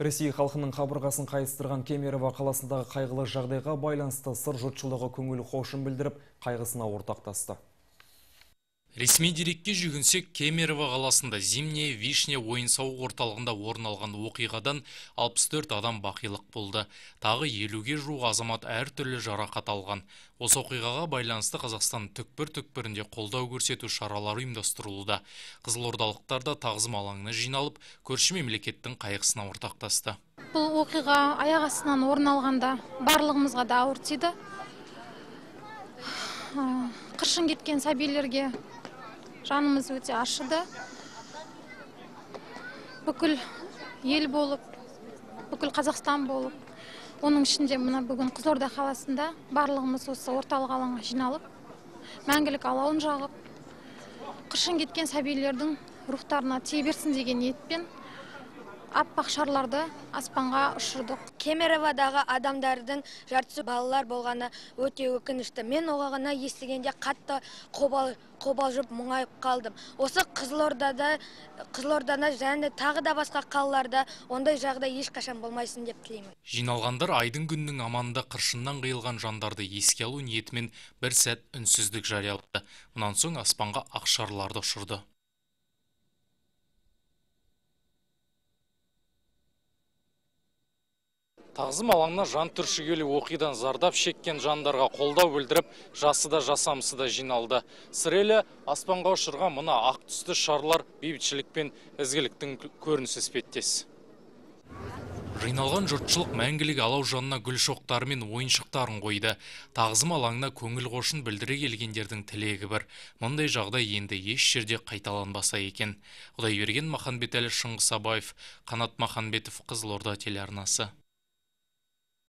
Ресей халқының қабырғасын қайыстырған Кемерово қаласындағы қайғылы жағдайға байланысты сыр жұртшылығы көңіл қошын білдіріп, қайғысына ортақтасты. Ресми дерекке жүгінсек, Кемерово қаласында Зимняя Вишня ойын-сауық орталығында орын алған оқиғадан 64 адам бақилық болды. Тағы 50-ге жуық азамат әртүрлі жарақат алған. Осы оқиғаға байланысты Қазақстан түкпір-түкпірінде қолдау көрсету шаралары ұйымдастырылуда. Қызылордалықтар да тағзым алаңына жиналып, көрші мемлекеттің қайғысына ортақтасты. Бұл оқиға аяқ астынан орын алғанда барлығымызға да ауыр тиді. Қыршын кеткен сәбилерге жанымыз өте ашыды. Бүкіл ел болып, бүкіл Қазақстан болып, оның ішінде мына бүгін Қызылорда қаласында барлығымыз осы орталық алаңға жиналып, мәңгілік алауын жағып, қыршын кеткен сәбилердің рухтарына тие берсін деген ниетпен аппақ шарларды аспанға ұшырдық. Кемероводағы адамдардың жартысы балалар болғаны өте өкінішті. Мен оғағына естігенде қатты қобалжып мұңайып қалдым. Осы Қызылордада және тағы да басқа қалаларда ондай жағдай ешқашан болмайсын деп тілеймін. Жиналғандар айдың күннің аманында қыршыннан қиылған жандарды еске алу ниетімен бір сәт үнсіздік жариялады. Мұнан соң аспанға ақ шарларды ұшырды. Тағзым алаңына жан түршігерлік оқиғадан зардап шеккен жандарға қолдау білдіріп, жасы да жасамысы да жиналды. Сірелі аспанға ұшырған мына ақ түсті шарлар бейбітшілік пен ізгіліктің көрінісі іспеттес. Жиналған жұртшылық мәңгілік алау жанына гүл шоқтары мен ойыншықтарын қойды. Тағзым алаңына көңіл қошын білдіре келгендердің тілегі бір. Мұндай жағдай енді еш жерде қайталанбаса екен. Құдайберген Маханбетәлі, Шыңғыс Абаев, Қанат Маханбетов, Қызылорда телеарнасы.